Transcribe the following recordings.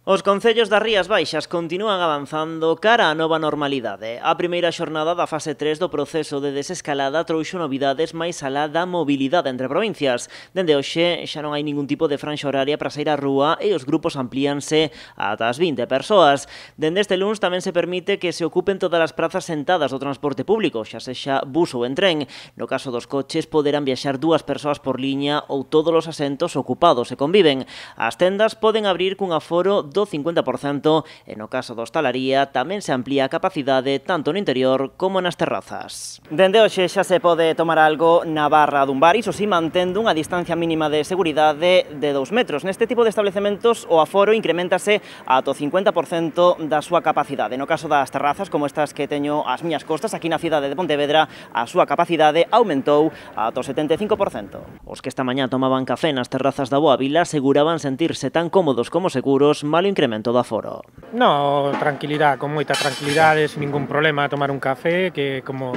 Os concellos das Rías Baixas continúan avanzando cara á nova normalidade. A primeira xornada da fase 3 do proceso de desescalada trouxo novidades máis alá da mobilidade entre provincias. Dende hoxe xa non hai ningún tipo de franxa horaria para sair á rúa e os grupos amplíanse ata as 20 persoas. Dende este luns tamén se permite que se ocupen todas as prazas sentadas do transporte público, xa sexa bus ou en tren. No caso dos coches poderán viaxar 2 persoas por liña ou todos os asentos ocupados e conviven. As tendas poden abrir cun aforo do 50% e no caso da hostalaría tamén se amplía a capacidade tanto no interior como nas terrazas. Dende hoxe xa se pode tomar algo na barra dun bar, iso si mantendo unha distancia mínima de seguridade de 2 metros. Neste tipo de establecementos o aforo incrementase ata o 50% da súa capacidade. No caso das terrazas, como estas que teño ás miñas costas, aquí na cidade de Pontevedra, a súa capacidade aumentou ata o 75%. Os que esta mañá tomaban café nas terrazas da Boa Vila aseguraban sentirse tan cómodos como seguros malo incremento do aforo. No, tranquilidade, con moita tranquilidade, sin ningún problema, a tomar un café, que como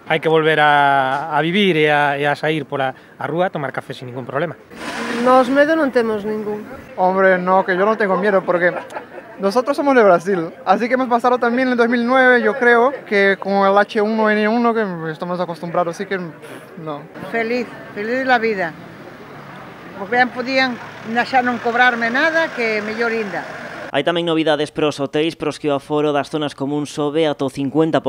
hai que volver a vivir e a sair por a rúa, tomar café sin ningún problema. Nos medo non temos ningún. Hombre, no, que yo no tengo miedo porque nosotros somos de Brasil, así que hemos pasado también en el 2009, yo creo, que con el H1N1 que estamos acostumbrados, así que no. Feliz la vida. Porque ben podían xa non cobrarme nada, que mellor inda. Hai tamén novidades para os hotéis pros que o aforo das zonas común sobe ata o 50%.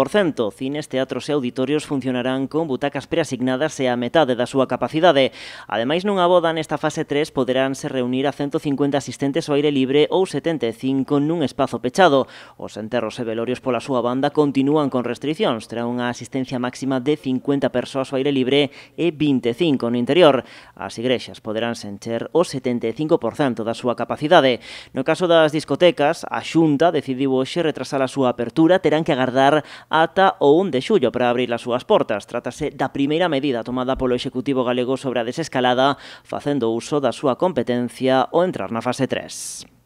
Cines, teatros e auditorios funcionarán con butacas preasignadas e a metade da súa capacidade. Ademais, nunha boda nesta fase 3 poderánse reunir a 150 asistentes ao aire libre ou 75 nun espazo pechado. Os enterros e velorios pola súa banda continúan con restriccións. Terá unha asistencia máxima de 50 persoas ao aire libre e 25 no interior. As igrexas poderánse encher o 75% da súa capacidade. No caso das discotecas, a Xunta decidiu hoxe retrasar a súa apertura, terán que agardar ata o 1 de xullo para abrir as súas portas. Trátase da primeira medida tomada polo Executivo galego sobre a desescalada, facendo uso da súa competencia ao entrar na fase 3.